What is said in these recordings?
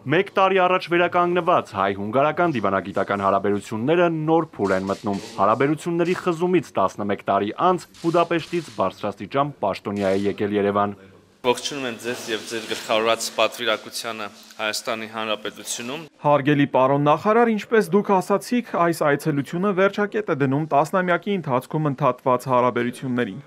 Մեկ տարի առաջ վերականգնված հայ-հունգարական դիվանագիտական հարաբերությունները նոր փուլ են մտնում։ Հարաբերությունների խզումից 11 տարի անց Բուդապեշտից բարձրաստիճան պաշտոնյա է եկել Երևան։ Ողջունում եմ ձեզ եւ ձեր գլխավորած պատվիրակությանը Հայաստանի Հանրապետությունում։ Հարգելի պարոն նախարար, ինչպես դուք ասացիք, այս այցելությունը վերջակետ է դնում տասնամյակի ընթացքում ընդհատված հարաբերություններին։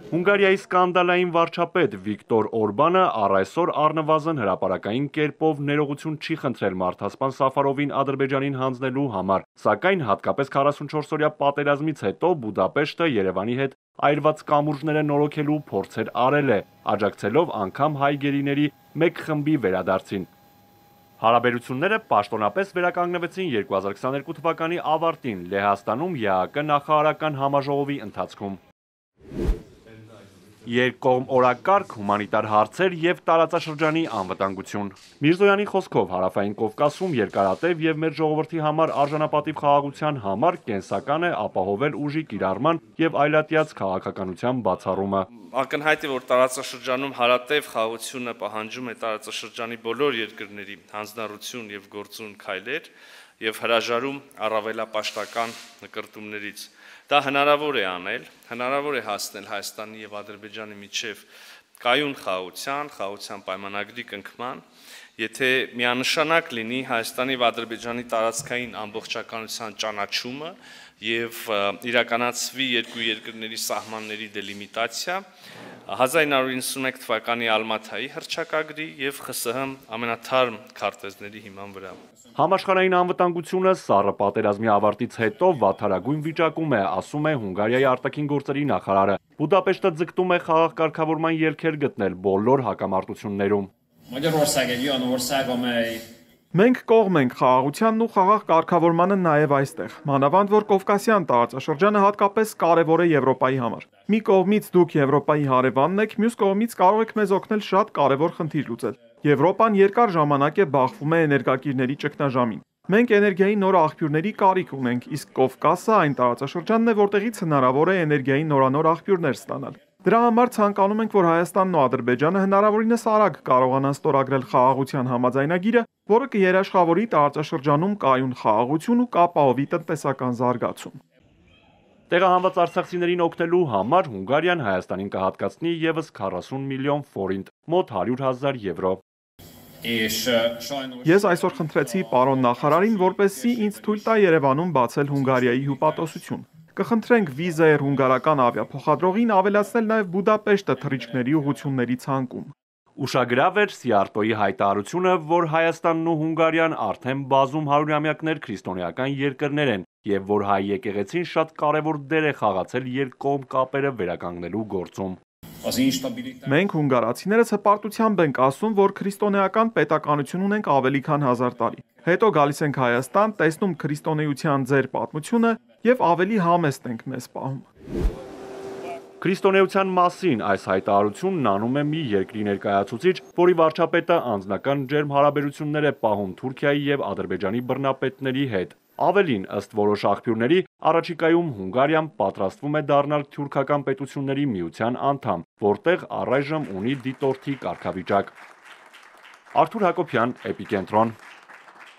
Հունգարիայի սկանդալային վարչապետ Վիկտոր Օրբանը առայսօր առնվազն հրապարակային կերպով ներողություն չի խնդրել մարդասպան Սաֆարովին Ադրբեջանին հանձնելու համար, սակայն հատկապես 44-օրյա պատերազմից հետո Բուդապեշտը Երևանի հետ այրված կամուրջները նորոգելու փորձեր արել է, աջակցելով անգամ հայ գերիների մեկ խմբի վերադարձին։ Հարաբերությունները պաշտոնապես վերականգնվեցին 2022 թվականի ավարտին Լեհաստանում ԵԱԿ նախարարական համաժողովի ընթացքում։ Երկկողմ օրակարգ, հումանիտար հարցեր եւ տարածաշրջանի անվտանգություն։ Միրզոյանի խոսքով Հարավային Կովկասում երկարատև եւ մեր ժողովրդի համար արժանապատիվ խաղաղության համար կենսական է ապահովել ուժի կիրառման եւ այլատյաց քաղաքականության բացառումը։ Ակնհայտ է, որ տարածաշրջանում հարատև խաղաղությունը պահանջում է տարածաշրջանի բոլոր երկրների հանձնառություն եւ գործուն քայլեր եւ հրաժարում առավելապաշտական նկրտումներից։ Դա հնարավոր է անել, հնարավոր է հասնել Հայաստանի եւ Ադրբեջանի միջև կայուն խաղաղության պայմանագրի կնքման, եթե միանշանակ լինի Հայաստանի եւ Ադրբեջանի տարածքային ամբողջականության ճանաչումը եւ իրականացվի երկու երկրների սահմանների դելիմիտացիա 1991 թվականի Ալմաթայի հռչակագրի եւ ԽՍՀՄ ամենաթարմ քարտեզների հիման վրա։ Համաշխարհային անվտանգությունը սառը պատերազմի ավարտից հետո վատթարագույն վիճակում է, ասում է Հունգարիայի արտաքին գործերի նախարարը։ Բուդապեշտը ձգտում է խաղաղ կարգավորման ելքեր գտնել բոլոր հակամարտություններում։ Մենք կողմ ենք խաղաղությանն ու խաղաղ կարգավորմանը նաև այստեղ, մանավանդ որ Կովկասյան տարածաշրջանը հատկապես կարևոր է Եվրոպայի համար։ Մի կողմից դուք Եվրոպայի հարևանն եք, մյուս կողմից կարող եք մեզ օգնել շատ կարևոր խնդիր լուծել։ Եվրոպան երկար ժամանակ է բախվում է էներգակիրների ճգնաժամին։ Մենք էներգիայի նոր աղբյուրների կարիք ունենք, իսկ Կովկասը այն տարածաշրջանն է, որտեղից հնարավոր է էներգիայի նորանոր աղբյուրներ ստանալ։ Դրա համար ցանկանում ենք, որ Հայաստանն ու Ադրբեջանը հնարավորինս արագ կարողանան ստորագրել խաղաղության համաձայնագիրը, որը կերաշխավորի տարածաշրջանում կայուն խաղաղություն ու կապահովի տնտեսական զարգացում։ Տեղահանված արցախցիներին օգնելու համար Հունգարիան Հայաստանին կհատկացնի եւս 40 միլիոն ֆորինտ, մոտ 100,000 եվրո։ Ես այսօր խնդրեցի պարոն նախարարին, որպեսզի ինձ թույլ տա Երևանում բացել Հունգարիայի հյուպատոսություն։ Կխնդրենք Վիզեր հունգարական ավիափոխադրողին ավելացնել նաև Բուդապեշտը թռիչքների ուղղությունների ցանկում։ Ուշագրավ էր Սիարտոյի հայտարարությունը, որ Հայաստանն ու Հունգարիան արդեն բազում հարյուրամյակներ քրիստոնեական երկրներ են եւ որ հայ եկեղեցին շատ կարեւոր դեր է խաղացել երկկողմ կապերը վերականգնելու գործում։ Մենք հունգարացիներս հպարտությամբ ենք ասում, որ քրիստոնեական պետականություն ունենք ավելի քան 1000 տարի։ Հետո գալիս ենք Հայաստան, տեսնում քրիստոնեության ձեր պատմությունը եւ ավելի համեստ ենք մեզ պահում։ Քրիստոնեության մասին այս հայտարարությունն անում է մի երկրի ներկայացուցիչ, որի վարչապետը անձնական ջերմ հարաբերություններ է պահում Թուրքիայի եւ Ադրբեջանի բռնապետների հետ։ Ավելին, ըստ որոշ աղբյուրների, առաջիկայում Հունգարիան պատրաստվում է դառնալ թուրքական պետությունների միության անդամ, որտեղ առայժմ ունի դիտորդի կարգավիճակ։ Արթուր Հակոբյան, Էպիկենտրոն։